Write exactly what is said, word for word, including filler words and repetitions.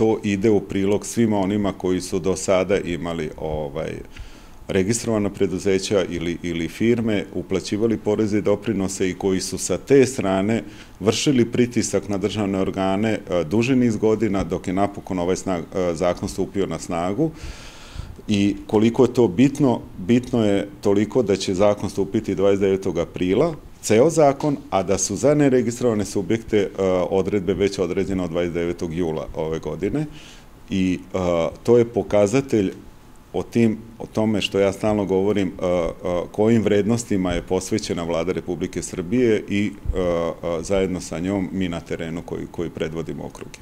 to ide u prilog svima onima koji su do sada imali ovaj, registrovana preduzeća ili, ili firme, uplaćivali poreze i doprinose i koji su sa te strane vršili pritisak na državne organe duži niz godina dok je napokon ovaj snag, zakon stupio na snagu. I koliko je to bitno, bitno je toliko da će zakon stupiti dvadeset devetog aprila, ceo zakon, a da su za neregistrovane subjekte odredbe već određene od dvadeset devetog jula ove godine. I to je pokazatelj o tim, o tome što ja stalno govorim, kojim vrednostima je posvećena Vlada Republike Srbije i zajedno sa njom mi na terenu koji, koji predvodimo okruge.